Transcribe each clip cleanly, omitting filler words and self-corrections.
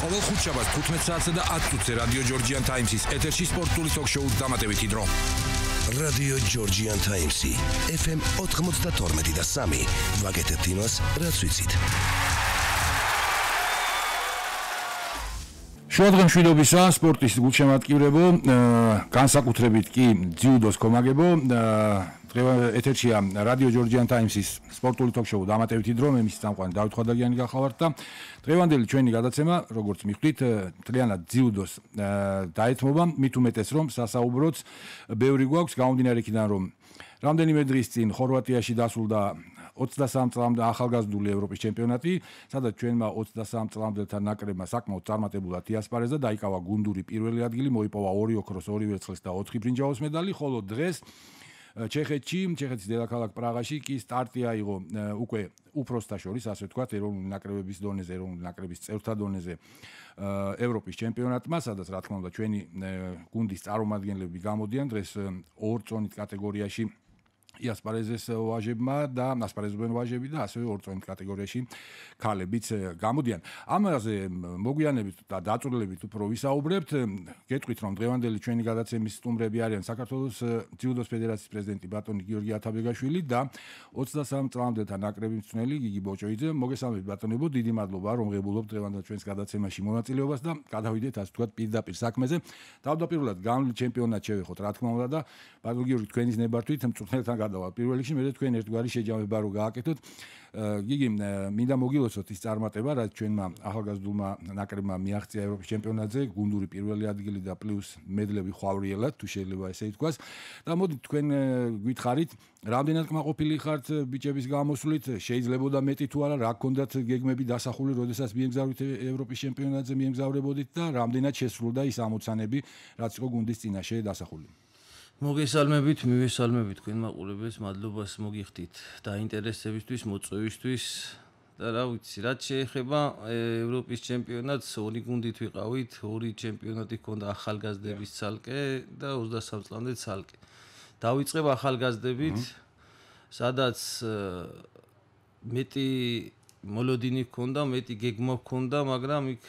ყოველ ხუთშაბათს 15 საათსა და 10 წუთზე რადიო ჯორჯიან ტაიმსის ეთერში სპორტული ტოქ-შოუს დამატებითი დრო. რადიო ჯორჯიან ტაიმსი FM 92.3 ვაკეთებთ იმას, რაც ვიცით. შუადღე მშვიდობისა, სპორტის გულშემატკივრებო, განსაკუთრებით კი ძიუდოს კომაგებო, ეთერშია რადიო ჯორჯიან ტაიმსის სპორტული ტოქ-შოუ დამატებითი დრო, მე მის წამყვანი დავით ხვადაგიანი გახავართ და დღევანდელი ჩვენი გადაცემა, როგორც მიხვდით, მთლიანად ძიუდოს დაეთმობა, მით უმეტეს რომ სასაუბროც ბევრი გვაქვს, გამომდინარე იქიდან რომ რამდენიმე დღის წინ ხორვატიაში დასრულდა 23 წლამდე ახალგაზრდული ევროპის ჩემპიონატი, სადაც ჩვენმა 23 წლამდელთა ნაკრებმა საკმაოდ წარმატებულად იასპარეზა, დაიკავა გუნდური პირველი ადგილი, მოიპოვა 2 ოქროს, 2 ვერცხლის და 4 ბრინჯაოს მედალი, ხოლო დღეს ჩეხეთის დედაქალაქ პრაღაში კი სტარტი აიღო უკვე უფროსთა შორის, ასე ვთქვათ, ეროვნული ნაკრებების დონეზე, ეროვნული ნაკრების წევრთა დონეზე ევროპის ჩემპიონატმა, სადაც რა თქმა უნდა ჩვენი გუნდის წარმომადგენლები გამოდიან დღეს 2 წონით კატეგორიაში იასპარეზეს ვაჟებმა და ასპარეზობენ ვაჟები და ასევე 2 წონით კატეგორიაში ქალებიც გამოდიან. ამაზე მოგვიანებით და დაწვრილებით უფრო ვისაუბრებთ. გეტყვით რომ დღევანდელი ჩვენი გადაცემის სტუმრები არიან საქართველოს ძიუდოს ფედერაციის პრეზიდენტი ბატონი გიორგი ათაბეგაშვილი და 23 წლამდელთა ნაკრების მწვრთნელი გიგი ბოჭოიძე. მოგესალმებით ბატონებო, დიდი მადლობა რომ ღებულობთ დღევანდელ ჩვენს გადაცემაში მონაწილეობას და გადავიდეთ ასე ვთქვათ პირდაპირ საქმეზე. თავდაპირველად გამლ ჩემპიონატ შევეხოთ რა თქმა უნდა და ბატონ გიორგი თქვენის ნებართვით მწვრთნელთან გადავალ პირველ რიგში, მე თქვენ ერთგვარი შეჯამება რო გააკეთოთ. გიგი, მინდა მოგილოცოთ ის წარმატება, რაც ჩვენმა ახალგაზრდულმა ნაკრებმა მიაღწია ევროპის ჩემპიონატზე, გუნდური პირველი ადგილი და პლუს მედლები ხვავრიელად, თუ შეიძლება ესე ითქვას. და მოდით თქვენ გითხარით, რამდენად კმაყოფილი ხართ ბიჭების გამოსვლით, შეიძლებოდა მეტი თუ არა, რა გქონდათ გეგმები დასახული, როდესაც მიემგზავრით ევროპის ჩემპიონატზე მიემგზავრებოდით და რამდენად შესრულდა ის ამოცანები, რაც იყო გუნდის წინაშე დასახული. მოგესალმებით, მივესალმებით თქვენ მაყურებელს, მადლობას მოგიხდით დაინტერესებისთვის, მოწვევისთვის და რა ვიცი, რაც შეეხება ევროპის ჩემპიონატს, 2 გუნდით ვიყავით, 2 ჩემპიონატი ჰქონდა ახალგაზრდების ცალკე და 23 წლამდე ცალკე. დავიწყებ ახალგაზრდებით, სადაც მეტი მოლოდინი ჰქონდა, მეტი გეგმა ჰქონდა, მაგრამ იქ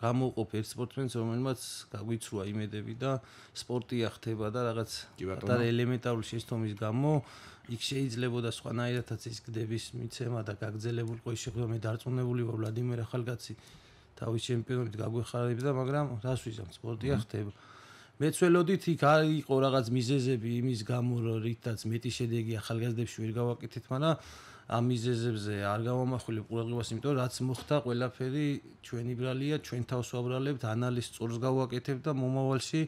გამოვყოფ ერთ სპორტსმენს, რომელმაც გაგვიცრუა იმედები და სპორტია ხდება და რაღაც ელემენტარული შეცდომის გამო იქ შეიძლებოდა სხვანაირადაც ის გდების მიცემა და გაგრძელებულიყო ის შეხვედრა. მე დარწმუნებული ვარ ვლადიმერ ახალგაცი თავის ჩემპიონობით გაგვეხარებდა, მაგრამ რას ვიზამ, სპორტია ხდება. მეც ველოდით იქ იყო რაღაც მიზეზები იმის გამო, რითაც მეტი შედეგი ახალგაზრდებში ვერ გავაკეთეთ, მაგრამ ამ მიზეზებზე არ გავამახვილებ ყურადღებას, იმიტომ რომ რაც მოხდა, ყველაფერი ჩვენი ბრალია, ჩვენ თავს ვაბრალებთ, ანალიზს სწორს გავაკეთებთ და მომავალში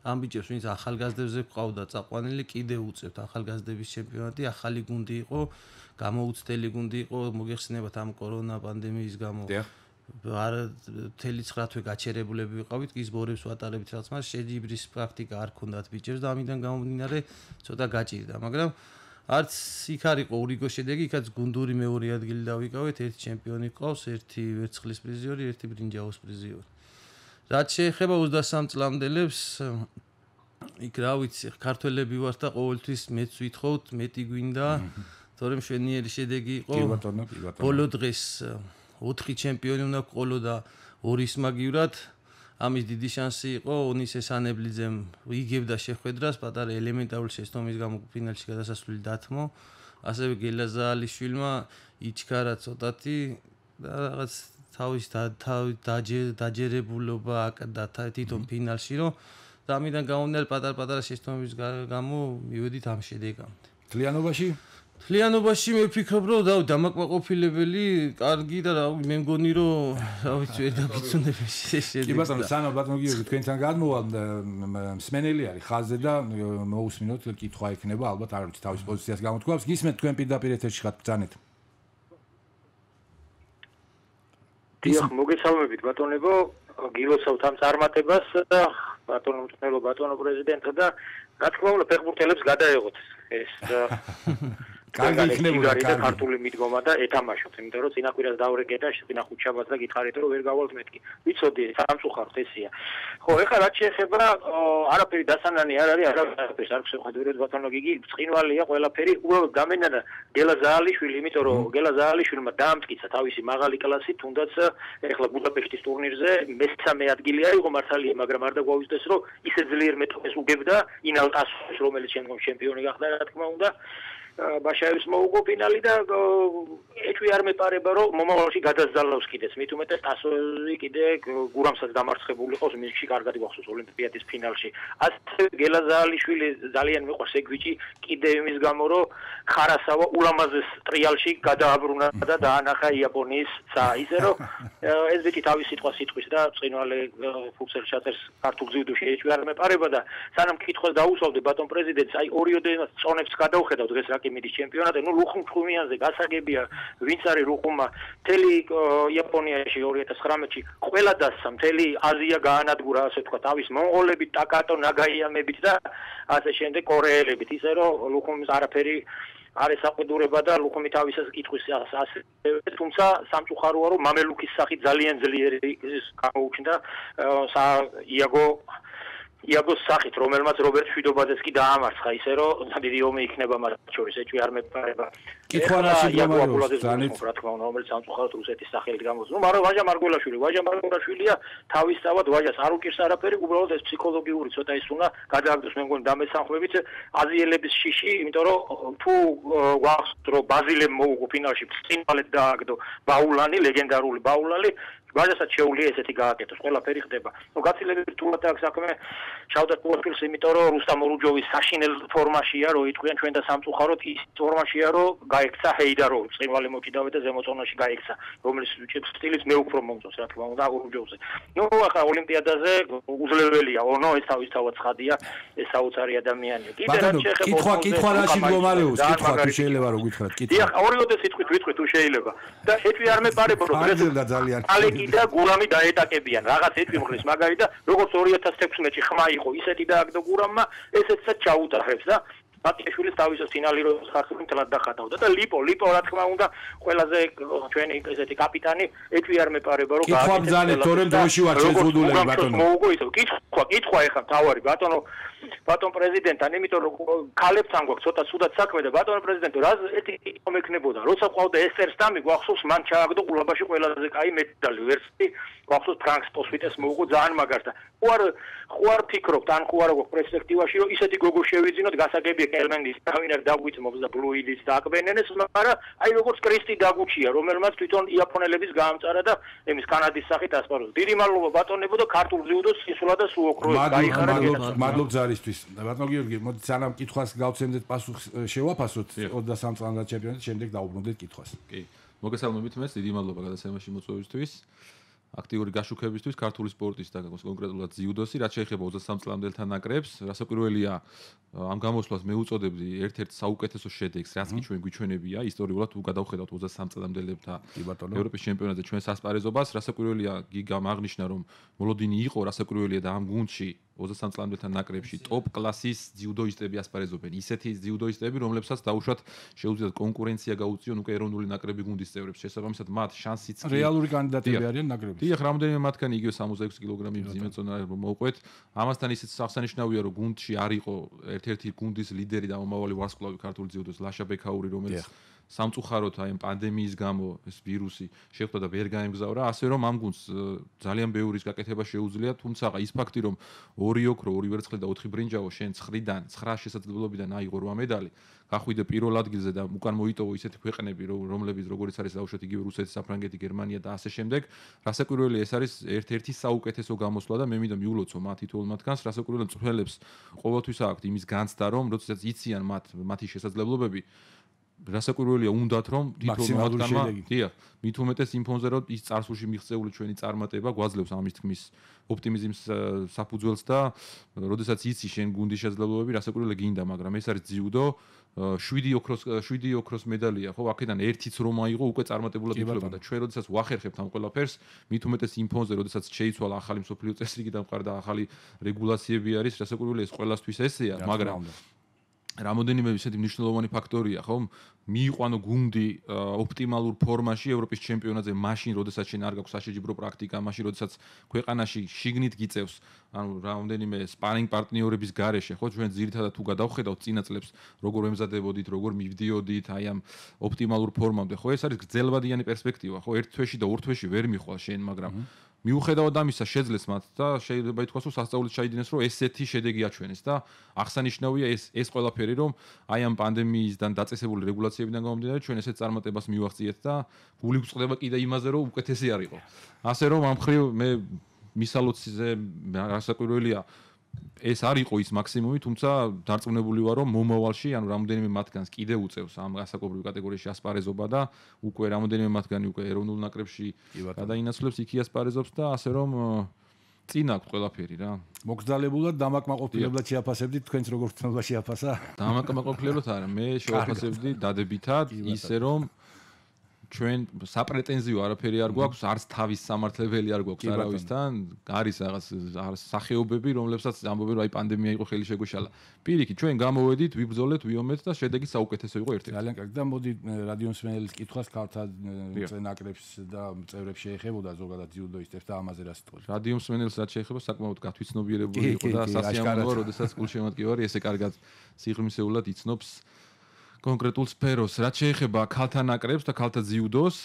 ამ ბიჭებს, ვინც ახალგაზრდებზე ყავდა წაყვანილი, კიდევ უწევთ ახალგაზრდების ჩემპიონატი, ახალი გუნდი იყო, გამოუცდელი გუნდი იყო, მოგეხსენებათ ამ კორონა პანდემიის გამო. არ მთელი 9 თვე გაჩერებულები ვიყავით, კი სბორებს ვატარებით რაც, მაგრამ შეჯიბრის პრაქტიკა არ ქონდათ ბიჭებს და ამიდან გამომდინარე ცოტა გაჭირდა, მაგრამ არც იქ არ იყო ურიგო შედეგი, იქაც გუნდური მეორე ადგილი დავიკავეთ, ერთი ჩემპიონი ყავს, ერთი ვერცხლის პრიზიორი, ერთი ბრინჯაოს პრიზიორი. რაც შეეხება 23 წლამდელებს, იქ რა ვიცი, ქართველები ვართ და ყოველთვის მეც ვითხოვთ, მეტი გვინდა, თორემ მშვენიერი შედეგი იყო. ბოლო დღეს 4 ჩემპიონი უნდა ყოლო და 2 ისმაგივრად. ამის დიდი შანსი იყო ონის ესანებლიძემ იგებდა შეხვედრას, პატარა ელემენტარული შეცდომის გამო ფინალში გადასასვლელი დათმო. ასევე გელაზალიშვილმა იჩქარა ცოტათი და რაღაც თავის დაჯერებულობა აკდა თვითონ ფინალში, რომ და ამიდან გამომდინარე პატარა შეცდომის გამო მივედით ამ შედეგამდე. თლიანობაში მე ვფიქრობ, რომ დამაკმაყოფილებელი, კარგი და მე მგონი, რომ რა ვიცი, ვერ დაგიცნობები შედეგი. კი ბატონო, სანამ ბატონო გიორგი თქვენთან გადმოვალ, მსმენელი არის ხაზზე და მოусმინოთ, კითხვა ექნება, ალბათ არ ვიცი, თავის პოზიციას გამოთქვამს. გისმენთ თქვენ პირდაპირ ეთერში ხართ, ბრძანეთ. დიახ, მოგესალმებით ბატონებო, გილოცავთ ამ წარმატებას და ბატონო მწვრთნელო, ბატონო პრეზიდენტო და რა თქმა უნდა ფეხბურთელებს გადაეღოთ ეს კარგი იქნებოდა ქართული მიდგომა და ეთამაშოთ, იმიტომ რომ წინაკვირას დავრეკე და წინა ხუთშაბათს და გითხარით რომ ვერ გავალთ მეთქი. ვიცოდი სამწუხაროდ ესია. ხო, ეხლა რაც შეეხება არაფერი დასანანი არ არის, არაფერს არ ხსოვდეთ ბატონო გიგი, წყინვალია ყველაფერი, უბრალოდ გამენადა გელა ზაალიშვილი, იმიტომ რომ გელა ზაალიშვილმა დაამტკიცა თავისი მაღალი კლასი, თუნდაც ეხლა ბუდაპეშტის ტურნირზე მესამე ადგილი აიღო მართალია, მაგრამ არ დაგვაუწყდეს რომ ისე ძლიერ მეტოქეს უგებდა ინალტასს, რომელიც შემდგომ ჩემპიონი გახდა, რა თქმა უნდა. ბაშაევის მოუგო ფინალი და ეჭვი არ მეპარება რომ მომავალში გადაზალავს კიდეც მით უმეტეს ტასოზე კიდე გურამსაც დამარცხებული ყავს მინსკში კარგად გახსოვს ოლიმპიადის ფინალში ასე გელა ზაალიშვილი ძალიან მიყვარს ეგ ბიჭი კიდე იმის გამო რომ ხარასავა ულამაზეს ტრიალში გადააბრუნა და დაანახა იაპონიის ცა ისე რომ ეს ბიჭი თავის სიტყვის და წყინვალე ფუცელ ჩაწერს ქართულ ძიუდოში ეჭვი არ მეპარება და სანამ კითხვას დაუსვავდე ბატონ პრეზიდენტს აი ორიოდე წონებს გადავხედავ დღეს მიდის ჩემპიონატი, ნუ ლუხუმ ხუმიანზე გასაგებია, ვინც არის ლუხუმა, მთელი იაპონიაში 2019-ში ყველა დასცა, მთელი აზია გაანადგურა, ასე თქვა, თავის მონღოლებით, ტაკატო ნაგაიამებით და ასე შემდეგ კორეელებით, ისე რომ ლუხუმის არაფერი არ ესაყიდურება და ლუხუმი თავისას კითხვის ასე, თუმცა სამწუხაროა, რომ მამელუქის სახით ძალიან ძლიერი გამოუჩნდა იაგოს სახით, რომელმაც რობერტ შვიდობაძეს კი დაამარცხა, ისე რომ დიდი ომი იქნება მათ შორის, ეჭვი არ მეპარება. კითხვა რაში გამარჯვებს, რა თქმა უნდა, რომელიც სამწუხაროდ რუსეთის სახელით გამოდის. ნუ მაგრამ ვაჟა მარგველაშვილია, თავისთავად ვაჟას არ უკირს არაფერი, უბრალოდ ეს ფსიქოლოგიური ცოტა ის უნდა გადააგდოს, მე მგონი დამესანხმებით აზიელების შიში, იმიტომ რომ თუ გვახსოვს რომ ბაზილემ მოუგო ფინალში წინვალეთ დააგდო ბაულანი, ლეგენდარული ბაულანი ვაჟასაც შეუძლია ესეთი გააკეთოს, ყველაფერი ხდება. ნუ გაცილებით რთულად აქვს საქმე შავდა პროფილს, იმიტომ რომ რუსტამ ორუჯოვის საშინელ ფორმაშია, რომ იტყვიან ჩვენ და სამწუხაროდ ის ფორმაშია, რომ გაიქცა ჰეიდაროვი, წინვალი მოკიდავე და ზემოწონაში გაიქცა, რომელიც სტილით მე უფრო მომწონს, რა თქმა უნდა, ორუჯოვზე. ნუ ახლა ოლიმპიადაზე უძლებელია, ონო ეს თავისთავად ცხადია, ეს საოცარი ადამიანია. კიდე რაც შეეხება კითხვა რაში მდგომარეობს, კითხვა თუ შეიძლება რომ გითხრათ, კითხვა. დიახ, ორიოდე სიტყვით ვიტყვი თუ შეიძლება. და ეჭვი არ მეპარება, რომ გრძელდა ძალიან. და გურამი დაეტაკებიან რაღაც ეტყვი მხრის მაგარი და როგორც 2016-ში ხმა იყო ისეთი დააგდო გურამმა ესეცაც ჩაუტარებს და ბატიშვილის თავისას ფინალი რო ხახი მთლად დახატავდა და ლიპო რა თქმა უნდა ყველაზე ჩვენი ესეთი კაპიტანი ეჭვი არ მეპარება რომ გააკეთოს კითხვა ბძანეთ თორემ დროში ვარ შეზღუდულები ბატონო მოუგო ისო კითხვა ეხლა თავარი ბატონ პრეზიდენტთან იმიტომ რომ ქალებთან გვაქვს ცოტა სუდად საქმე და ბატონ პრეზიდენტო რა ეთი მეკნებოდა როცა ყავდა ესერსტამი გვახსოვს მან ჩააგდო ყულაბაში ყველაზე კაი მეტალი ვერსი გვახსოვს ფრანკს პოსვიტეს მოუგო ძალიან მაგარს და ხوار ფიქრობთ ან ხوار გვაქვს პერსპექტივაში რომ ისეთი გოგო შევიძინოთ გასაგებია კელმენდის თავინარ დაგვიწმობს და ბლუიდის დააკბენენეს მაგრამ აი როგორც კრისტი დაგუჩია რომელმაც თვითონ იაპონელების გაამწარა და იმის კანადის სახით ასპარეზობს დიდი მადლობა ბატონებო და ქართულ ძიუდოს სისულა და სუოქროს გაიხარა მადლობ ზარისთვის ბატონო გიორგი მოდი სანამ კითხვას გავცემდეთ პასუხს შევაფასოთ 23 წლამდე ჩემპიონატი შემდეგ დაუბრუნდეთ კითხვას კი მოგესალმებით მე დიდი მადლობა გადაცემაში მოწვევისთვის აქტიური გაშუქებისთვის ქართული სპორტის და კონკრეტულად ძიუდოსი, რაც შეეხება 23 წლამდელთა ნაკრებს, რასაკვირველია ამ გამოსვლას მე უწოდებდი ერთ-ერთ საუკეთესო შედეგს, რაც კი ჩვენ გვიჩვენებია ისტორიულად თუ გადავხედავთ 23 წლამდელებთა ევროპის ჩემპიონატზე ჩვენს ასპარეზობას, რასაკვირველია გიგამ აღნიშნა რომ მოლოდინი იყო, რასაკვირველია და ამ გუნდში 23 წლამდელთა ნაკრებში ტოპ კლასის ძიუდოისტები ასპარეზობენ. ისეთი ძიუდოისტები, რომლებსაც დაუშვათ შეუძლიათ კონკურენცია გაუწიონ უკვე ეროვნული ნაკრები გუნდის წევრებს. შესაბამისად მათ შანსიც კი რეალური კანდიდატები არიან ნაკრებში. დიახ, რამოდენიმე მათგანი იგივე 66 კილოგრამი მძიმე წონა მოუყვეთ. ამასთან ისიც აღსანიშნავია, რომ გუნდში არ იყო ერთ-ერთი გუნდის ლიდერი და მომავალი ვარსკვლავი ქართული ძიუდოს ლაშა ბექაური, რომელიც სამწუხაროდ აი პანდემიის გამო ეს ვირუსი შეხვდა და ვერ გაემგზავრა, ასე რომ ამ გუნდს ძალიან ბევრის გაკეთება შეუძლია, თუმცა ის ფაქტი, რომ 2 ოქრო, 2 ვერცხლი და 4 ბრინჯაო შენ 9-დან 9 შესაძლებლობიდან აიღო 8 медали, გახვიდე პირველ ადგილზე და უკან მოიტოვო ისეთი ქვეყნები, რომლებიც როგორც არის დაუშვათ იგივე რუსეთი, საფრანგეთი, გერმანია და ასე შემდეგ. რასაკვირველია ეს არის ერთ-ერთი საუკეთესო გამოსვლა და მე მინდა მიულოცო მათ თითოეულ მათგანს, რასაკვირველია მწვრთნელებს ყოველთვის აქვთ იმის განცდა, რომ როდესაც იციან მათი შესაძლებლობები რასაკვირველია უნდათ რომ თითოეულ მათგანმა დიახ მით უმეტეს იმ ფონზე რომ ის წარსულში მიღწეული ჩვენი წარმატება გვაძლევს ამის თქმის ოპტიმიზმის საფუძველს და როდესაც იცი შენ გუნდის შესაძლებლობები რასაკვირველია გინდა მაგრამ ეს არის ძიუდო 7 ოქროს მედალია ხო აქედან ერთიც რომ აიღო უკვე წარმატებულად ითვლება და ჩვენ როდესაც ვახერხებთ ამ ყველაფერს მით უმეტეს იმ ფონზე როდესაც შეიცვალა ახალი მსოფლიო წესრიგი დამყარდა ახალი რეგულაციები არის რასაკვირველია ეს ყველასთვის ესეა მაგრამ რამოდენიმე ისეთი მნიშვნელოვანი ფაქტორია, ხო? მიიყვანო გუნდი ოპტიმალურ ფორმაში ევროპის ჩემპიონატზე, მაშინ, როდესაც შენ არ გაქვს საშეჯიბრო პრაქტიკა, მაშინ, როდესაც ქვეყანაში შიგნით გიწევს, ანუ რამოდენიმე სპარინგ პარტნიორების გარეშე, ხო? ჩვენ ძირითადად თუ გადავხედავთ წინა წლებს, როგორ ემზადებოდით, როგორ მივდიოდით აი ამ ოპტიმალურ ფორმამდე, ხო? ეს არის გრძელვადიანი პერსპექტივა, ხო? ერთ თვეში და ორ თვეში ვერ მიხვალ შენ, მაგრამ მიუხედავად ამისა შეძლეს მათ და შეიძლება ითქვას, რომ სასწაულით ჩაიდინეს, რომ ესეთი შედეგი აჩვენეს და აღსანიშნავია ეს ყველაფერი, რომ აი ამ პანდემიისგან დაწესებული რეგულაციებიდან გამომდინარე ჩვენ ესეთ წარმატებას მივაღწიეთ და გული გვწყდება კიდე იმაზე, რომ უკეთესი არ იყო. ასე რომ ამ მხრივ მე მისალოციზე რასაკვირველია ეს არ იყო ის მაქსიმუმი, თუმცა დარწმუნებული ვარ, რომ მომავალში, ანუ რამოდენიმე მათგანს კიდე უწევს ამ გასაკობრივ კატეგორიაში ასპარეზობა და უკვე რამოდენიმე მათგანი უკვე ეროვნულ ნაკრებში გადაინაცვლებს, იქ იასპარეზობს და ასე რომ წინ აქვს ყველაფერი რა. მოგზალებულად დამაკმაყოფილებლად შეაფასებდით თქვენს როგორ თნობა შეაფასა? დამაკმაყოფილებლად არა, მე შევაფასებდი დადებითად, ისე რომ ჩვენ საპრეტენზიო არაფერი არ გვაქვს, არც თავის სამართლებელი არ გვაქვს არავისთან, არის რაღაც სახეობები, რომლებსაც ამბობენ, რომ აი პანდემია იყო ხელი შეგვეშალა. პირიქით, ჩვენ გამოვედით, ვიბრძოლეთ, ვიომეთ და შედეგი საუკეთესო იყო ერთ-ერთი. ძალიან კარგი და მოდი რადიო მსმენელის კითხვას ქალთა ნაკრებს და წევრებს შეეხებოდა ზოგადად ძიუდოისტებს და ამაზე რა სიტყვები. რადიო მსმენელს რაც შეეხება, საკმაოდ გათვითცნობიერებული იყო და სასიამოვნოა, როდესაც გულშემატკივარი ესე კარგად სიღრმისეულად იცნობს კონკრეტულ სფეროს. რაც შეეხება ქალთა ნაკრებს და ქალთა ძიუდოს,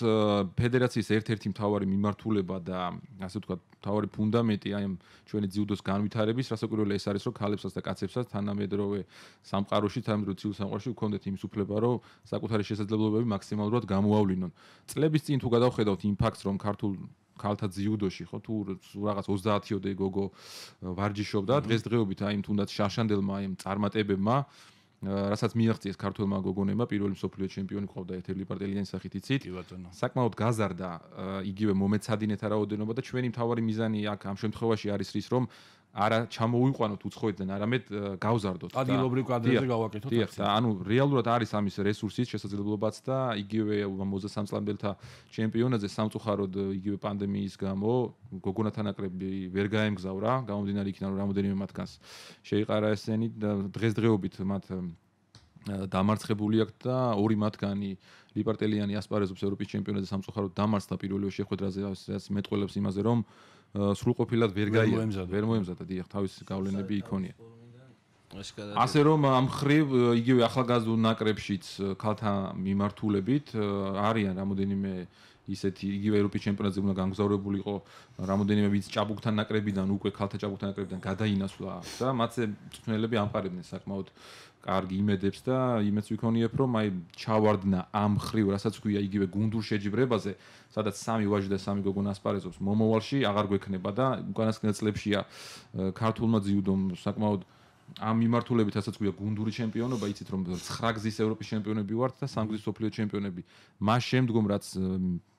ფედერაციის ერთ-ერთი მთავარი მიმართულება და ასე ვთქვათ, მთავარი ფუნდამენტი აი ამ ჩვენი ძიუდოს განვითარების, რასაკვირველია ეს არის, რომ ქალებსაც და კაცებსაც თანამედროვე სამყაროში, თანამედროვე ცივილ სამყაროში გქონდეთ იმის უფლება, რომ საკუთარი შესაძლებლობები მაქსიმალურად გამოავლინონ. წლების წინ თუ გადავხედავთ იმ ფაქტს, რომ ქართულ ქალთა ძიუდოში, ხო, თუ რაღაც 30-ოდე გოგო ვარჯიშობდა, დღესდღეობით აი თუნდაც შაშანდელმა აი წარმატებებმა რასაც მიაღწიეს ქართველმა გოგონებმა პირველი მსოფლიო ჩემპიონი ყავდა ეთერლი პარტელიანის სახით იცით. საკმაოდ გაზარდა იგივე მომეცადინეთა რაოდენობა და ჩვენი მთავარი მიზანი აქ ამ შემთხვევაში არის ის, რომ არა ჩამოუიყვანოთ უცხოეთიდან, არამედ გავზარდოთ. ადგილობრივ კადრებზე გავაკეთოთ. დიახ, ანუ რეალურად არის ამის რესურსიც, შესაძლებლობაც და იგივე 23 წლამდელთა ჩემპიონატზე სამწუხაროდ იგივე პანდემიის გამო გოგონათა ნაკრები ვერ გაემგზავრა, გამომდინარე იქიდან რომ რამოდენიმე მათგანს შეიყარა ესენი და დღესდღეობით მათ დამარცხებული აქვს და ორი მათგანი ლიპარტელიანი ასპარეზობს ევროპის ჩემპიონატზე სამწუხაროდ დამარცხდა პირველი შეხვედრაზე, რაც მეტყველებს იმაზე, რომ სრულყოფილად ვერ მოემზადა, დიახ, თავის გავლენები იქონია. ასე რომ ამ ხრივ იგივე ახალგაზრდულ ნაკრებშიც ქალთა მიმართულებით არიან რამოდენიმე ისეთი იგივე ევროპის ჩემპიონატზე უნდა გამგზავრებულიყო რამოდენიმე ვინც ჭაბუკთან ნაკრებიდან უკვე ქალთა ჭაბუკთან ნაკრებიდან გადაინაცვლა და მათზე მწვრთნელები ამყარებდნენ საკმაოდ კარგი იმედებს და იმედს ვიქონიებ რომ აი ჩავარდნა ამ ხრივ რასაც ქვია იგივე გუნდურ შეჯიბრებაზე სადაც სამი ვაჟი და სამი გოგონა ასპარეზობს მომავალში აღარ გვექნება და უკანასკნელ წლებშია ქართულმა ძიუდომ საკმაოდ ამ მიმართულებით რასაც ქვია გუნდური ჩემპიონობა იცით რომ 9 გზის ევროპის ჩემპიონები ვართ და 3 გზის მსოფლიო ჩემპიონები მას შემდგომ რაც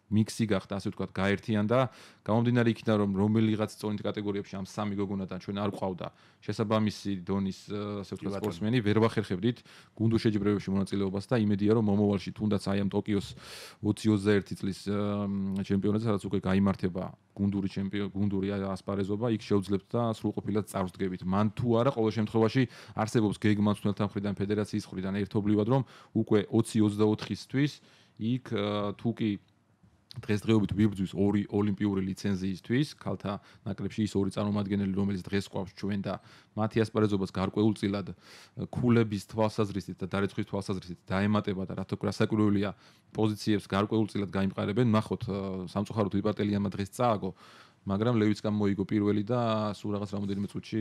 მიქსი გახდა ასე ვთქვათ გაერთიანდა გამომდინარე იქიდან რომ რომელიღაც წონით კატეგორიებში ამ სამი გოგონათან ჩვენ არ ყავდა შესაბამისი დონის ასე ვთქვათ სპორტსმენი ვერ ვახერხებდით გუნდურ შეჯიბრებებში მონაწილეობას და იმედია რომ მომავალში თუნდაც აი ამ ტოკიოს 2021 წლის ჩემპიონატზე სადაც უკვე გაიმართება გუნდური ასპარეზობა იქ შევძლებთ და სრულყოფილად წარვდგებით მან თუ არა ყოველ შემთხვევაში არსებობს გეგმა მწვრთნელთა მხრიდან ფედერაციის მხრიდან ერთობლივად რომ უკვე 2024-ისთვის იქ თუ კი დღესდღეობით ვიბრძვის ორი ოლიმპიური ლიცენზიისთვის ქალთა ნაკრებში ის ორი წარმომადგენელი რომელიც დღეს ყავს ჩვენ და მათი ასპარეზობას გარკვეულწილად ქულების თვალსაზრისით და დარეცხვის თვალსაზრისით დაემატება და რასაკვირველია პოზიციებს გარკვეულწილად გაიმყარებენ ნახოთ სამწუხაროდ ვიპარტელიანმა დღეს წააგო მაგრამ ლევიცკამ მოიგო პირველი და სულ რაღაც რამოდენიმე წუთში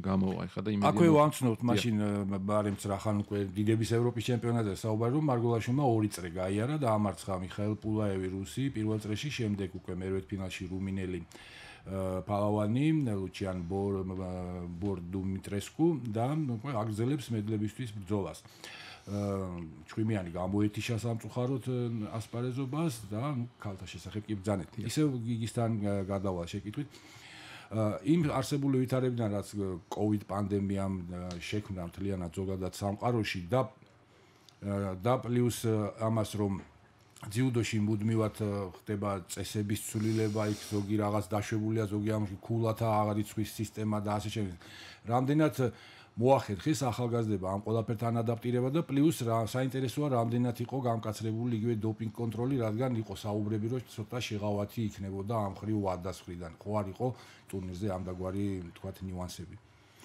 გამოვა ხა და იმედი აქვე ვამცნობთ მაშინ ბარემც რახან უკვე დიდების ევროპის ჩემპიონატზე საუბარი რომ მარგოლაშვილმა 2 წრე გაიარა და ამარცხა მიხაილ პულაევი რუსი პირველ წრეში შემდეგ უკვე მერვეთ ფინალში რუმინელი პალავანი ლუჩიან ბორდუმიტრესკუ და უკვე აგრძელებს მედლებისთვის ბრძოლას ჩხვიმიანი გამოეთიშა სამწუხაროდ ასპარეზობას და ქალთა შესახებ კი ბრძანეთ. ისევ გიგისთან გადავალ შეკითხვით. იმ არსებული ვითარებიდან რაც COVID პანდემიამ შექმნა მთლიანად ზოგადად სამყაროში და პლუს ამას რომ ძიუდოში მუდმივად ხდება წესების ცვლილება, იქ ზოგი რაღაც დაშვებულია, ზოგი ამაში ქულათა აღარ იცვის სისტემა და ასე შემდეგ. რამდენად მოახერხეს ახალგაზრდება ამ ყველაფერთან ადაპტირება და პლუს რა საინტერესოა რამდენად იყო გამკაცრებული იგივე დოპინგ კონტროლი, რადგან იყო საუბრები, რომ ცოტა შეღავათი იქნებოდა ამ ხრივ WADA-ს მხრიდან. ხო არ იყო ტურნირზე ამდაგვარი თქვათ ნიუანსები.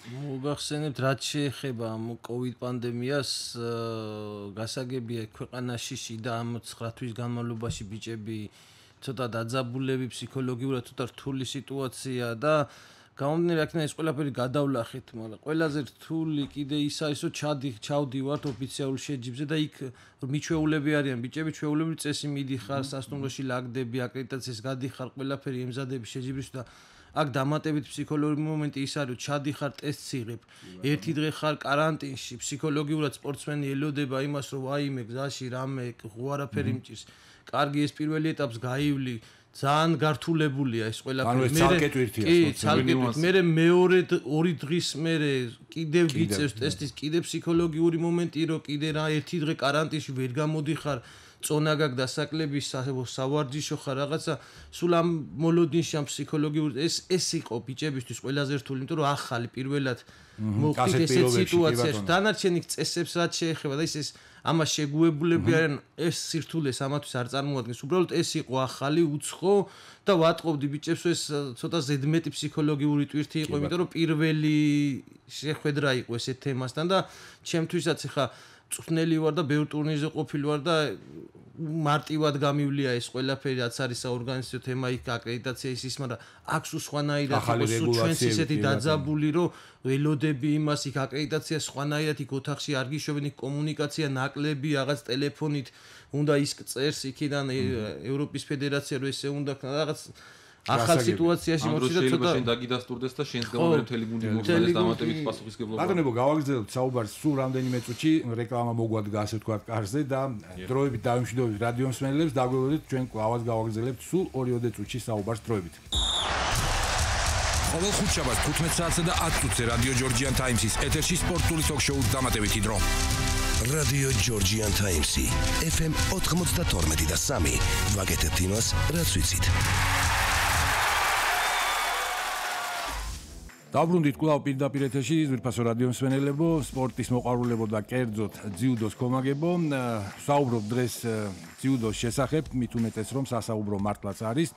მოგახსენებთ, რაც შეეხება ამ COVID პანდემიას, გასაგებია ქვეყანაში შიდა ამ 9 თვის განმავლობაში ბიჭები ცოტა დაძაბულები, ფსიქოლოგიურად ცოტა რთული სიტუაცია და გამომდინარე აქედან ეს ყველაფერი გადავლახეთ, მაგრამ ყველაზე რთული კიდე ის არის, რომ ჩავდივართ ოფიციალურ შეჯიბზე და იქ მიჩვეულები არიან ბიჭები, ჩვეულებრივი წესი მიდიხარ, სასტუმროში ლაგდები, აკრედიტაციას გადიხარ, ყველაფერი ემზადები შეჯიბრის და აქ დამატებით ფსიქოლოგიური მომენტი ის არის, რომ ჩადიხარ ტესტს იღებ. ერთი დღე ხარ კარანტინში, ფსიქოლოგიურად სპორტსმენი ელოდება იმას, რომ ვაიმე გზაში რამე არაფერი მჭირს. კარგი ეს პირველი ეტაპს გაივლი, ძალიან გართულებულია ეს ყველაფერი. მე მეორე 2 დღის მერე კიდევ გიწევს ტესტის, კიდევ ფსიქოლოგიური მომენტი, რომ კიდე რა ერთი დღე კარანტინში ვერ გამოდიხარ. წონა გაქვს დასაკლების სავარჯიშო ხარ რაღაცა სულ ამ მოლოდინში ამ ფსიქოლოგიური ეს იყო ბიჭებისთვის ყველაზე რთული, იმიტომ რომ ახალი პირველად მოხდით ესეთ სიტუაციაში. დანარჩენი წესებს რაც შეეხება და ის ამას შეგუებულები არიან, ეს სირთულეს ამათვის არ წარმოადგენს. უბრალოდ ეს იყო ახალი, უცხო და ვატყობდი ბიჭებს, ეს ცოტა ზედმეტი ფსიქოლოგიური ტვირთი იყო, იმიტომ რომ პირველი შეხვედრა იყო ესეთ თემასთან და ჩემთვისაც ხა წვნელი ვარ და ბევრ ტურნირზე ყოფილი ვარ და მარტივად გამივლია ეს ყველაფერი, რაც არის საორგანიზაციო თემა, იქ აკრედიტაცია ის, მაგრამ აქვს სხვანაირად იყო ჩვენს ისეთი დაძაბული, რომ ველოდები იმას, იქ აკრედიტაცია სხვანაირად, იქ ოთახში არ გიშვებენ, იქ კომუნიკაცია ნაკლები, რაღაც ტელეფონით უნდა ის წერს იქიდან ევროპის ფედერაცია, რომ ესე უნდა რაღაც ახალ სიტუაციაში მოხდა ცოტა შენ დაგიდასტურდეს და შენს გამო მთელი გუნდი მოხდეს დამატებით პასუხისმგებლობა. ბატონებო, გავაგრძელებთ საუბარს სულ რამდენიმე წუთში, რეკლამა მოგვადგა ასე ვთქვათ კარზე და დროებით დავიმშვიდობთ რადიო მსმენელებს, დაგვივლოდეთ ჩვენ კვლავაც გავაგრძელებთ სულ 2-3 წუთში საუბარს დროებით. ყოველ ხუთშაბათს 15 საათსა და 10 წუთზე რადიო ჯორჯიან ტაიმსის ეთერში სპორტული ток-შოუს დამატებითი დრო. რადიო ჯორჯიან ტაიმსი FM 92 და 3 ვაგეთებთ იმას, რაც ვიცით. დაბრუნდით კვლავ პირდაპირ ეთერში, ზურფასო რადიო მსმენელებო, სპორტის მოყვარულებო და კერძოდ ძიუდოს კომაგებო. საუბრობ დღეს ძიუდოს შესახებ, მით უმეტეს რომ სასაუბრო მართლაც არის.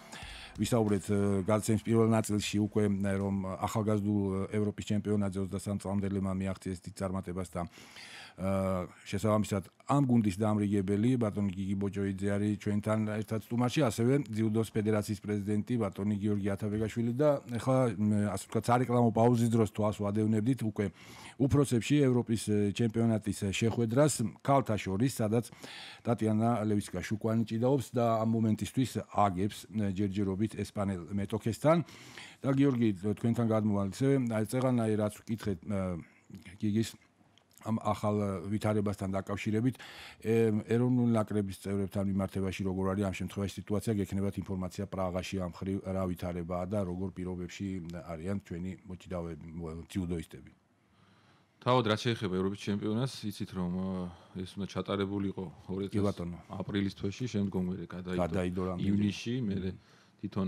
ვისაუბრეთ გადაცემის პირველ ნაწილში უკვე რომ ახალგაზრდულ ევროპის ჩემპიონატზე 23 წლამდელებმა მიაღწიეს დიდ წარმატებას და შესაბამისად ამ გუნდის დამრიგებელი ბატონი გიგი ბოჭოიძე არის ჩვენთან ერთად სტუმარში, ასევე ძიუდოს ფედერაციის პრეზიდენტი ბატონი გიორგი ათაბეგაშვილი და ახლა ასე ვთქვათ სარეკლამო პაუზის დროს თვალს ვადევნებდით უკვე უფროსებში ევროპის ჩემპიონატის შეხვედრას ქალთა შორის, სადაც ტატიანა ლევისკა-შუკვანი ჭიდაობს და ამ მომენტისთვის აგებს ჯერჯერობით ესპანელ მეტოქესთან და გიორგი თქვენთან გადმოვალთ ისე წეღანაი რაც ვკითხეთ გიგის ამ ახალ ვითარებასთან დაკავშირებით ეროვნული ნაკრების წევრებთან მიმართებაში როგორ არის ამ შემთხვევაში სიტუაცია, გექნებათ ინფორმაცია პრაღაში ამ ხრივ რა ვითარებაა და როგორ პირობებში არიან ჩვენი მოჭიდავეები ძიუდოისტები. თავად რაც შეეხება ევროპის ჩემპიონატს, იცით რომ ეს უნდა ჩატარებულიყო 2000 აპრილის თვეში, შემდგომ მერე გადაიდო ივნისში, მერე თვითონ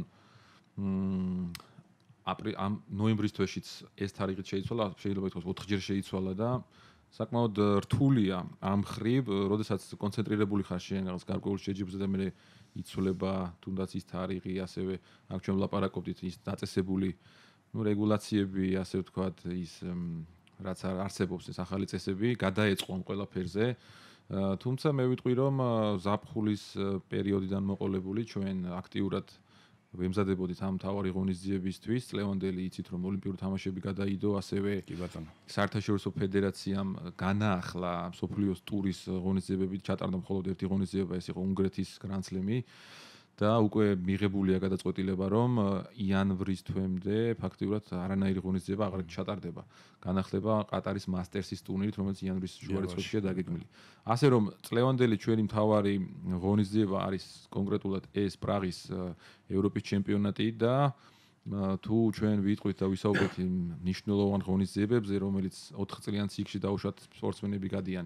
ამ ნოემბრის თვეშიც ეს თარიღი შეიცვალა, შეიძლება ითქვას 4 ჯერ შეიცვალა და საკმაოდ რთულია ამ ხრივ, როდესაც კონცენტრირებული ხარ შენ რაღაც გარკვეულ შეჯიბრზე და მე იცვლება თუნდაც ის თარიღი, ასევე აქ ჩვენ ვლაპარაკობდით ის დაწესებული რეგულაციები, ასე ვთქვათ, ის რაც არსებობს ეს ახალი წესები, გადაეწყო ამ ყველაფერზე. თუმცა მე ვიტყვი რომ ზაფხულის პერიოდიდან მოყოლებული ჩვენ აქტიურად ვემზადებოდით ამ თავარი ღონისძიებისთვის. ლევანდელი იცით რომ ოლიმპიური თამაშები გადაიდო, ასევე საერთაშორისო ფედერაციამ განაახლა მსოფლიოს ტურის ღონისძიებები, ჩატარდა მხოლოდ ერთი ღონისძიება, ეს იყო უნგრეთის გრანდსლემი. და უკვე მიღებულია გადაწყვეტილება რომ იანვრის თვემდე ფაქტიურად არანაირი ღონისძიება აღარ ჩატარდება. განახლება ყატარის მასტერსის ტურნირით, რომელიც იანვრის შუა რიცხვებშია დაგეგმილი. ასე რომ წლევანდელი ჩვენი მთავარი ღონისძიება არის კონკრეტულად ეს პრაღის ევროპის ჩემპიონატი და თუ ჩვენ ვიტყვით და ვისაუბრეთ იმ მნიშვნელოვან ღონისძიებებზე, რომელიც 4 წლიან ციკლში დაუშვათ სპორტსმენები გადიან.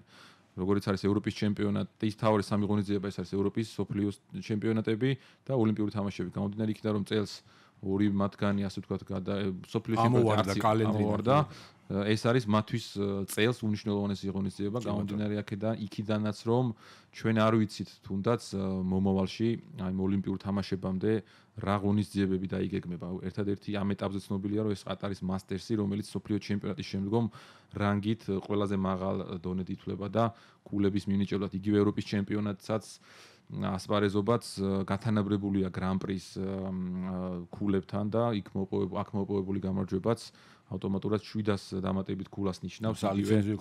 როგორც არის ევროპის ჩემპიონატი, ის თავი სამი ღონისძიება ეს არის ევროპის სოფლიოს ჩემპიონატები და ოლიმპიური თამაშები. გამომდინარე იქიდან რომ წელს ორი მათგანი ასე ვთქვათ სოფლიოს ჩემპიონატი ამოვარდა ეს არის მათთვის წელს უნიშნელოვანესი ღონისძიება გამომდინარე იქიდანაც რომ ჩვენ არ ვიცით თუნდაც მომავალში აი ოლიმპიურ თამაშებამდე რა ღონისძიებები დაიგეგმება. ერთადერთი ამ ეტაპზე ცნობილია რომ ეს ყატარის მასტერსი რომელიც სოფლიო ჩემპიონატის შემდგომ რანგით ყველაზე მაღალ დონედ ითვლება და კულების მინიჭებლად იგივე ევროპის ჩემპიონატსაც ასპარეზობაც გათანაბრებულია გრან-პრის კულებთან და აქ მოპოვებული გამარჯვებაც ავტომატურად 700 დამატებით კულას ნიშნავს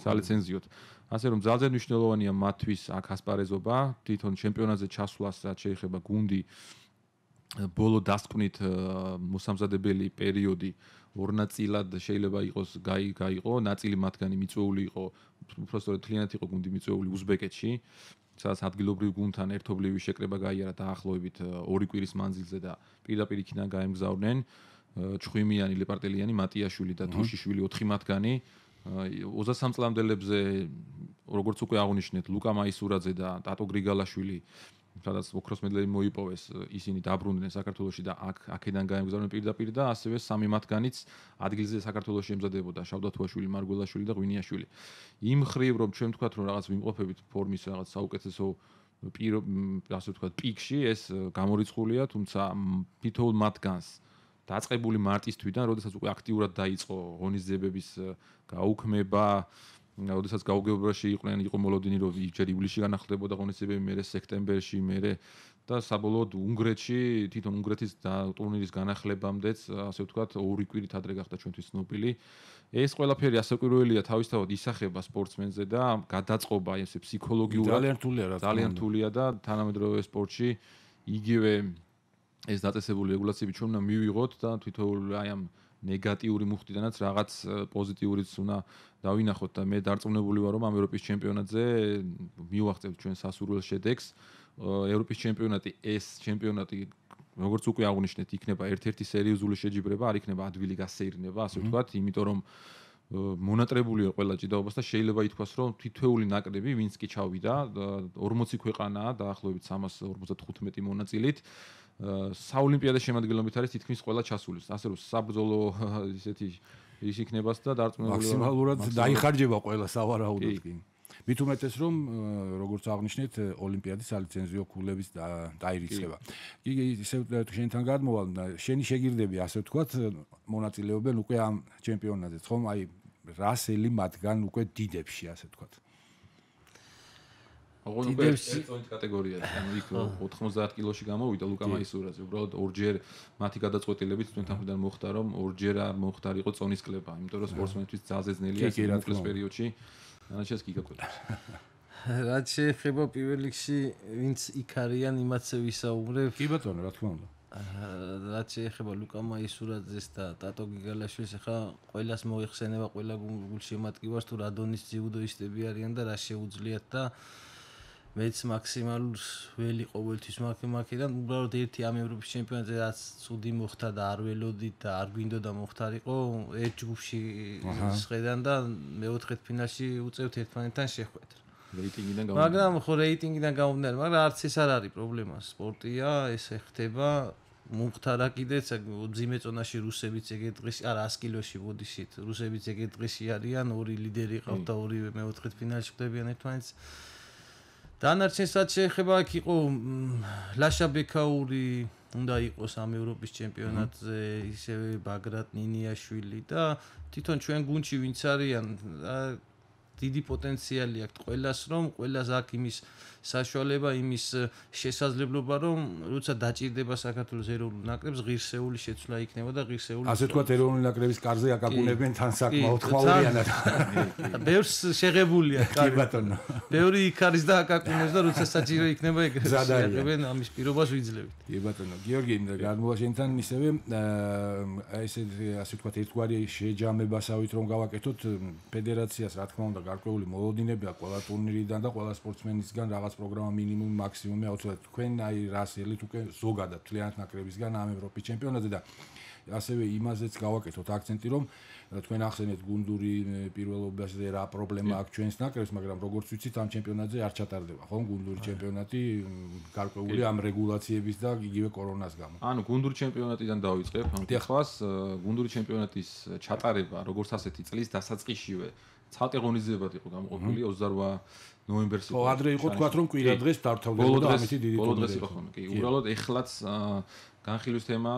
სალიცენზიოდ. ასე რომ ძალზე მნიშვნელოვანია მათთვის აქ ასპარეზობა, თვითონ ჩემპიონატზე ჩასვლას რაც შეეხება გუნდი ბოლო დასკვნით მოსამზადებელი პერიოდი ორ ნაწილად შეიძლება იყოს გაიყო, ნაწილი მათგანი მიწვეული იყო, უბრალოდ თლიანად იყო გუნდი მიწვეული უზბეკეთში, სადაც ადგილობრივ გუნდთან ერთობლივი შეკრება გაიარა დაახლოებით 2 კვირის მანძილზე და პირდაპირ იქიდან გაემგზავრნენ ჩხვიმიანი, ლეპარტელიანი, მატიაშვილი და თუშიშვილი 4 მათგანი 23 წლამდელებზე როგორც უკვე აღნიშნეთ ლუკა მაისურაძე და ტატო გრიგალაშვილი სადაც ოქროს მედლი მოიპოვეს ისინი დაბრუნდნენ საქართველოში და აქედან გაემგზავრნენ პირდაპირ და ასევე 3 მათგანიც ადგილზე საქართველოში ემზადებოდა შავდათუაშვილი, მარგველაშვილი და ღვინიაშვილი. იმ ხრივ რომ ჩვენ ვთქვათ რომ რაღაც ვიმყოფებით ფორმის რაღაც საუკეთესო ასე ვთქვათ პიკში ეს გამორიცხულია, თუმცა თითოეულ მათგანს დაწყებული მარტის თვიდან, როდესაც უკვე აქტიურად დაიწყო ღონისძიებების გაუქმება, როდესაც გაუგებრობაში იყო მოლოდინი, რომ ჯერ ივლისში განახლდებოდა ღონისძიებები, მერე სექტემბერში, მერე და საბოლოოდ უნგრეთში, თვითონ უნგრეთის ტურნირის განახლებამდეც, ასე ვთქვათ, 2 კვირით ადრე გახდა ჩვენთვის ცნობილი. ეს ყველაფერი ასაკვირველია თავისთავად ისახება სპორტსმენზე და გადაწყობა ესე ფსიქოლოგიურად ძალიან რთულია და თანამედროვე სპორტში იგივე ეს დაწესებული რეგულაციები ჩვენ უნდა მივიღოთ და თვითონ აი ამ ნეგატიური მუხტიდანაც რაღაც პოზიტიურიც უნდა დავინახოთ და მე დარწმუნებული ვარ რომ ამ ევროპის ჩემპიონატზე მივახცევთ ჩვენ სასურველ შედეგს. ევროპის ჩემპიონატი ეს ჩემპიონატი როგორც უკვე აღნიშნეთ იქნება ერთ-ერთი სერიოზული შეჯიბრება, არ იქნება ადვილი გასეირნება, ასე ვთქვათ, იმიტომ რომ მონატრებულია ყველა ჭიდაობას და შეიძლება ითქვას რომ თითოეული ნაკრები ვინც კი ჩავიდა 40 ქვეყანაა დაახლოებით 355 მონაწილით საოლიმპიადო შემადგენლობით არის თითქმის ყველა ჩასული. ასე რომ საბრძოლო ისეთი ის იქნებას და დარწმუნებული ვარ მაქსიმალურად დაიხარჯება ყველა სავარაუდოდ კი. მით უმეტეს რომ როგორც აღნიშნეთ ოლიმპიადის სალიცენზიო კულების დაირიცხება. კი ისე შენთან გადმოვალ შენი შეგირდები ასე ვთქვათ მონაწილეობენ უკვე ამ ჩემპიონატზე, ხომ? აი რასელი მათგან უკვე დიდებში ასე ვთქვათ. დიდებში კატეგორია, ანუ იქ 90 კილოში გამოვიდა ლუკა მაისურაძე, უბრალოდ ორჯერ მათი გადაწყვეტილებით თქვენთან მხრიდან მოხდა რომ ორჯერ არ მოხდარიყო წონის კლება, იმიტომ რომ სპორტსმენთვის ძალზე ძნელია მოკლეს პერიოდში. ანაჩეს კი გაკვეთებს. რაც შეეხება პირველ რიგში ვინც იქ არიან იმათზე ვისაუბრებ. კი ბატონო, რა თქმა უნდა. რაც შეეხება ლუკა მაისურაძეს და ტატო გიგალაშვილს, ახლა ყველას მოიხსენება ყველა გულშემატკივარს თუ რა დონის ძიუდოისტები არიან და რა შეუძლიათ და მეც მაქსიმალურს ველი ყოველთვის მაქედან უბრალოდ ერთი ამ ევროპის ჩემპიონატზე რაც ცუდი მოხდა და არ ველოდით და არ გვინდოდა მოხდარიყო ერთ ჯგუფში შედან და მეოთხედ ფინალში უწევთ ერთმანეთთან შეხვედრა. მაგრამ ხო რეიტინგიდან გამომდინარე, მაგრამ არც ეს არ არის პრობლემა. სპორტია, ეს ხდება. მომხდარა კიდეც ძიმე წონაში რუსებიც ეგეთ დღეში, არა 100 კილოში ბოდიშით, რუსებიც ეგეთ დღეში არიან, 2 ლიდერი ყავთ და 2 მეოთხედ ფინალში ხვდებიან ერთმანეთს. დანარჩენსაც შეეხება აქ იყო ლაშა ბექაური უნდა იყოს ამ ევროპის ჩემპიონატზე, ისევე ბაგრატ ნინიაშვილი და თვითონ ჩვენ გუნდში ვინც არიან დიდი პოტენციალი აქვს ყველას რომ ყველას აქვს იმის საშუალება, იმის შესაძლებლობა რომ როცა დაჭირდება საქართველოს ეროვნულ ნაკრებს ღირსეული შეცვლა იქნება და ღირსეული ასე თქვა ეროვნული ნაკრების კარზე აკაკუნებენ თან საკმაოდ ხმაურიანად. ბევრს შეღებულია კი ბატონო. ბევრი იქ არის და აკაკუნებს და როცა საჭირო იქნება ეგრევე შეღებენ ამის პირობას ვიძლევით. კი ბატონო. გიორგი გადმოვაშენთან ისევე ესე ასე თქვა ერთგვარი შეჯამებასავით რომ გავაკეთოთ ფედერაციას რა თქმა უნდა გარკვეული მოლოდინები აქვს ყველა ტურნირიდან და ყველა სპორტსმენისგან რაღაც პროგრამა მინიმუმ მაქსიმუმი აუცილებლად თქვენ აი რას ელით უკვე ზოგადად თლიანად ნაკრებისგან ამ ევროპის ჩემპიონატზე და ასევე იმაზეც გავაკეთოთ აქცენტი რომ თქვენ ახსენეთ გუნდური პირველობაზე რა პრობლემა აქვს ჩვენს ნაკრებს მაგრამ როგორც ვიცით ამ ჩემპიონატზე არ ჩატარდება ხო გუნდური ჩემპიონატი გარკვეული ამ რეგულაციების და იგივე კორონას გამო ანუ გუნდური ჩემპიონატიდან დავიწყებ ამ თვალს გუნდური ჩემპიონატის ჩატარება როგორც ასეთი წლის დასაწყისშივე ცალკე ღონისძიებად იყო გამოყოფილი 28 ნოემბერს ხო ადრე იყო თქვა რომ კვირა დღეს დავთავდებოდა ამეთი დიდი ტურნირი იყო ხო კი უბრალოდ ეხლაც განხილვის თემა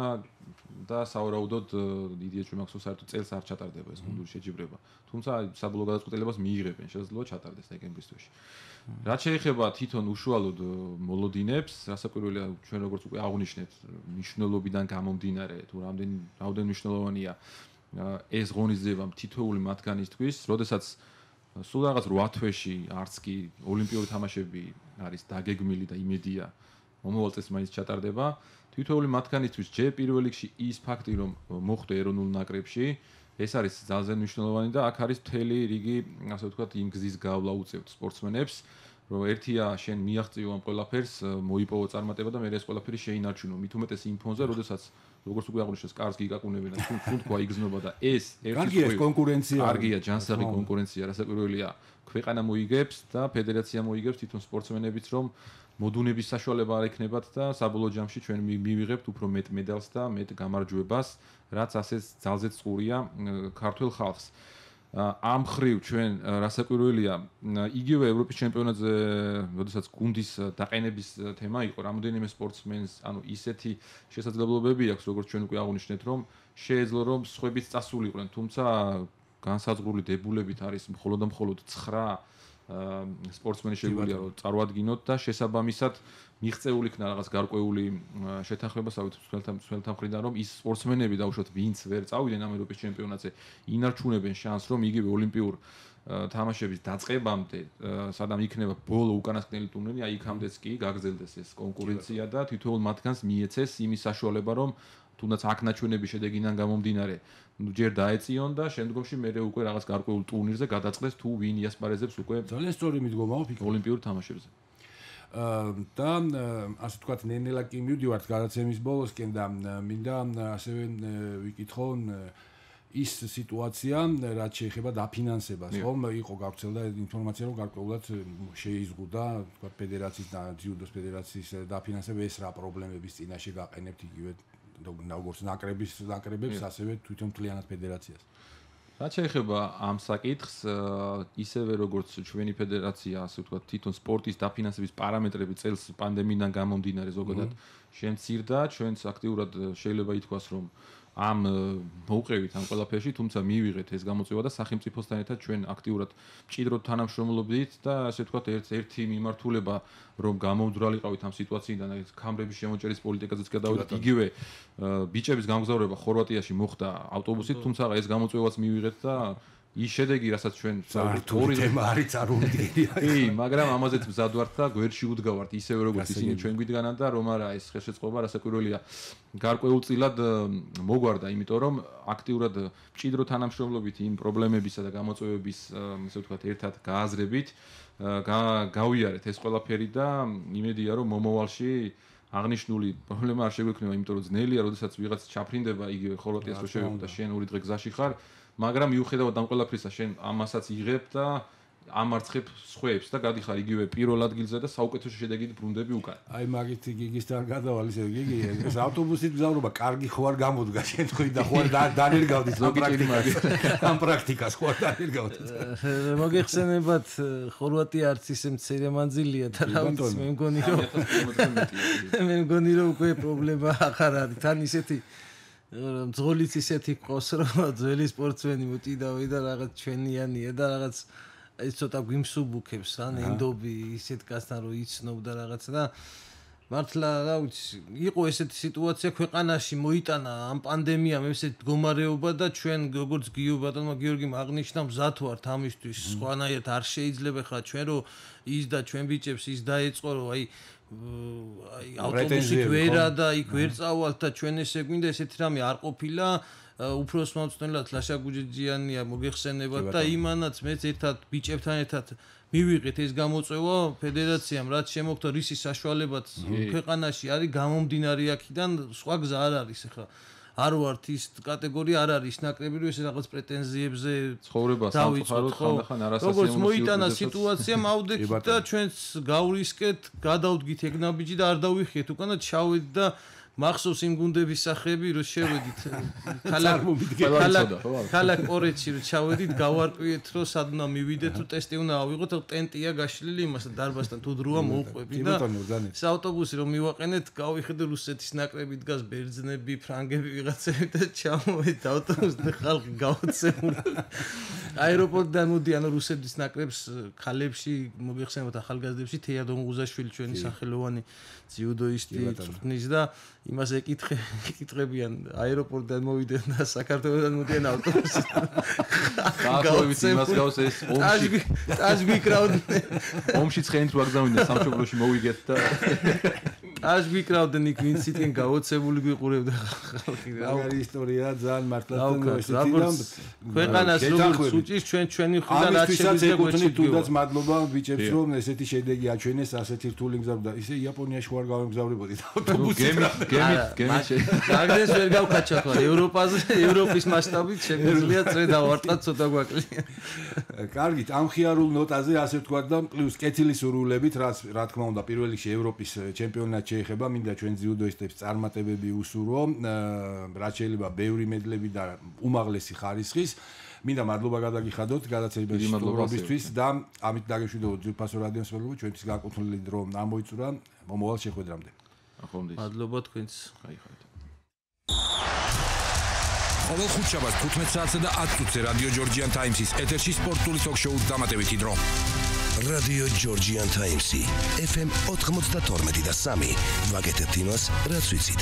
და საავადმყოფოდ დიდია ჩვენ მაქვს საერთოდ წელს არ ჩატარდება ეს გუნდური შეჯიბრება თუმცა საბოლოო გადაწყვეტილებას მიიღებენ შესაძლოა ჩატარდეს დეკემბრის თვეში რაც შეეხება თვითონ უშუალოდ მოლოდინებს რასაკვირველია ჩვენ როგორც უკვე აღვნიშნეთ მნიშვნელობიდან გამომდინარე თუ რამდენი მნიშვნელოვანია ეს ღონისძიება თითოეული მათგანისთვის როდესაც სულ რაღაც 8 თვეში არც კი ოლიმპიური თამაშები არის დაგეგმილი და იმედია მომავალ წელს მაინც ჩატარდება თითოეული მათგანისთვის ჯერ პირველ რიგში ის ფაქტი რომ მოხვდე ეროვნულ ნაკრებში ეს არის ძალზე მნიშვნელოვანი და აქ არის მთელი რიგი ასე ვთქვათ იმ გზის გავლა უწევთ სპორტსმენებს რომ ერთია შენ მიაღწიო ამ ყველაფერს მოიპოვო წარმატება და მე ეს ყველაფერი შეინარჩუნო მით უმეტეს იმ ფონზე როდესაც როგორც უკვე აღვნიშნეს კარს გიგაკუნებენ და თუნ თქვა იგზნობა და ეს ერთი კონკურენცია კარგია ჯანსაღი კონკურენცია რასაკვირველია ქვეყანა მოიგებს და ფედერაცია მოიგებს თვითონ სპორტსმენებიც რომ მოდუნების საშუალება არ ექნებათ და საბოლოო ჯამში ჩვენ მივიღებთ უფრო მეტ მედალს და მეტ გამარჯვებას რაც ასეც ძალზედ წყურია ქართულ ხალხს ამ ხრივ ჩვენ რასაკვირველია იგივე ევროპის ჩემპიონატზე როდესაც გუნდის დაყენების თემა იყო რამოდენიმე სპორტსმენს ანუ ისეთი შესაძლებლობები აქვს როგორც ჩვენ უკვე აღვნიშნეთ რომ შეეძლო რომ სხვებიც წასულიყვნენ თუმცა განსაზღვრული დებულებით არის მხოლოდ და მხოლოდ 9 სპორტსმენი შეგვიძლია რომ წარვადგინოთ და შესაბამისად მიღწეული იქნა რაღაც გარკვეული შეთანხმება სავით მხრიდან რომ ის სპორტსმენები დაუშვათ ვინც ვერ წავიდნენ ამ ევროპის ჩემპიონატზე ინარჩუნებენ შანსს რომ იგივე ოლიმპიურ თამაშების დაწყებამდე სადამ იქნება ბოლო უკანასკნელი ტურნირი აი იქამდეც კი გაგრძელდეს ეს კონკურენცია და თითოეულ მათგანს მიეცეს იმის საშუალება რომ თუნდაც აქ ნაჩვენების შედეგიდან გამომდინარე ჯერ დაეწიონ და შემდგომში მერე უკვე რაღაც გარკვეულ ტურნირზე გადაწყდეს თუ ვინ იასპარეზებს უკვე ძალიან სწორი მიდგომაა ფიქრი ოლიმპიურ თამაშებზე და ასე ვთქვათ ნენელა კი მივდივართ გადაცემის ბოლოსკენ და მინდა ასევე ვიკითხო ის სიტუაცია რაც შეეხება დაფინანსებას ხომ იყო გავრცელდა ინფორმაცია რომ გარკვეულად შეიზღუდა ვთქვათ ფედერაციის და ძიუდოს ფედერაციის დაფინანსება ეს რა პრობლემების წინაშე გაყენებთ იგივე როგორც ნაკრებებს ასევე თვითონ მთლიანად ფედერაციას რაც შეეხება ამ საკითხს ისევე როგორც ჩვენი ფედერაცია ასე ვთქვათ თვითონ სპორტის დაფინანსების პარამეტრები წელს პანდემიიდან გამომდინარე ზოგადად შემცირდა ჩვენც აქტიურად შეიძლება ითქვას რომ ამ მოვყევით ამ ყველაფერში თუმცა მივიღეთ ეს გამოწვევა და სახელმწიფოსთან ერთად ჩვენ აქტიურად მჭიდროდ თანამშრომლობდით და ასე ვთქვათ ერთი მიმართულება რომ გამომძვრალიყავით ამ სიტუაციიდან ეს კამრების შემოჭერის პოლიტიკაზეც გადავიდეთ იგივე ბიჭების გამგზავრება ხორვატიაში მოხდა ავტობუსით თუმცა ეს გამოწვევაც მივიღეთ და ის შედეგი რასაც ჩვენ ორი თემა არის წარუმდგენია კი მაგრამ ამაზეც მზად ვართ და გვერდში უდგავართ ისევე როგორც ისინი ჩვენ გვიდგანან და რომ არა ეს ხელშეწყობა რასაკვირველია გარკვეულწილად მოგვარდა იმიტომ რომ აქტიურად მჭიდრო თანამშრომლობით იმ პრობლემებისა და გამოწვევების ისე ვთქვათ ერთად გააზრებით გავიარეთ ეს ყველაფერი და იმედია რომ მომავალში აღნიშნული პრობლემა არ შეგვექმნება იმიტომ რომ ძნელია როდესაც ვიღაც ჩაფრინდება იგივე ხორვატიას რო შევეხო და შენ ორი დღე გზაში ხარ მაგრამ მიუხედავად ამ ყველაფრისა შენ ამასაც იღებ და ამარცხებ სხვებს და გადიხარ იგივე პირველ ადგილზე და საუკეთესო შედეგით ბრუნდები უკან. აი მაგით გიგისთან გადავალ ისე გიგი ეს ავტობუსით მგზავრობა კარგი ხო არ გამოდგა შენ თქვი და ხო არ დანერგავდით ამ პრაქტიკას ხო არ დანერგავდით. მოგეხსენებათ ხორვატია არც ისე მცირე მანძილია და რა ვიცი მე მგონი რომ უკვე პრობლემა ახარ არის თან ისეთი ძღოლიც ისეთი ყავს რომ ძველი სპორტსმენი მოტიდავი და რაღაც ჩვენიანია და რაღაც ეს ცოტა გვიმსუბუქებს რა ნენდობი ისეთ კაცთან რომ იცნობდა რაღაც და მართლა რა ვიცი იყო ესეთი სიტუაცია ქვეყანაში მოიტანა ამ პანდემიამ ესეთ მდგომარეობა და ჩვენ როგორც გიო ბატონმა გიორგიმ აღნიშნა მზად ვართ ამისთვის სხვანაირად არ შეიძლება ხა ჩვენ რომ ის და ჩვენ ბიჭებს ის დაეწყო რომ აი ავტობუსით ვერა და იქ ვერ წავალთ და ჩვენ ესე გვინდა ესეთი რამე არ ყოფილა უფროს მომწვენლად ლაშა გუჯიჯიანია მოგეხსენებათ და იმანაც მეც ერთად ბიჭებთან ერთად მივიღეთ ეს გამოწვევა ფედერაციამ რაც შემოგთა რისის საშუალებად ქვეყანაში არის გამომდინარე აქედან სხვა გზა არ არის ახლა არ ვართ ის კატეგორია არ არის ნაკრები რომ ეს რაღაც პრეტენზიებზე ცხოვრება სამწუხაროდ ხანდახან არასასიამოვნო როგორც მოიტანა სიტუაცია მავდექით და ჩვენც გავრისკეთ გადავდგით ეგნაბიჯი და არ დავიხიეთ უკანა ჩავედით და მახსოვს იმ გუნდების სახეები რომ შევედით ქალაქ პორეთში რომ ჩავედით გავარკვიეთ რომ სად უნდა მივიდეთ თუ ტესტი უნდა ავიღოთ ტენტია გაშლილი იმასთან დარბაზთან თუ დროა მოუყვები და ეს ავტობუსი რომ მივაყენეთ გავიხედე რუსეთის ნაკრები დგას ბერძნები ფრანგები ვიღაცები და ჩავმოვიდეთ ავტობუსზე ხალხი გაოცებული აეროპორტიდან მოდიან რუსეთის ნაკრებს ხალებში მოგეხსენებათ ახალგაზრდებში თეადონ ღუზაშვილი ჩვენი სახელოვანი ძიუდოისტი წვრთნის და იმას ეკითხებიან აეროპორტიდან მოვიდნენ და საქართველოსთან მოდიან ავტობუსით. გააღვივით იმას გავს ეს ომში. ტაჟგვიკრავდნენ. ომში ცხენით ვაგზავნიდნენ სამშობლოში მოვიგეთ და ტაჟგვიკრავდნენ იქ ვინც იტენ გაოცებული გვიყურებდა ხალხი. რა ისტორია ძალიან მართლაც და ქვეყანას როგორც უჭის ჩვენი ხვიდან აჩვენებს ეკუთვნით თუნდაც მადლობა ბიჭებს რომ ესეთი შედეგი აჩვენეს ასეთი რთული მგზავრობა ისე იაპონიაში ვარ გავემგზავრებოდით ავტობუსით. გემი მაგდეს ვერ გავკაჩა ხო ევროპის მასშტაბით შეგვიძლია წრე დავარტყათ ცოტა გვაკლია. კარგით ამ ხიარულ ნოტაზე ასე ვთქვა და პლუს კეთილი სურვილებით რა თქმა უნდა პირველ რიგში ევროპის ჩემპიონატი შეეხება მინდა ჩვენ ძიუდოისტებს წარმატებები უსურვო რაც შეიძლება ბევრი მედლები და უმაღლესი ხარისხის მინდა მადლობა გადაგიხადოთ გადაცემის სტუმრობისთვის და ამით დაგეშვიდოთ ძვირფასო რადიოს მსმენელო ჩვენთვის განკუთვნილი დრო ამოიწურა მომავალ შეხვედრამდე მადლობა თქვენს გაიხარეთ ყოველ ხუთშაბათს 15 საათსა და 10 წუთზე რადიო ჯორჯიან ტაიმსის ეთერში სპორტული ток-შოუ დამატებითი დრო რადიო ჯორჯიან ტაიმსი FM 92 და 3 ვაკეთებთ იმას რაც ვიცით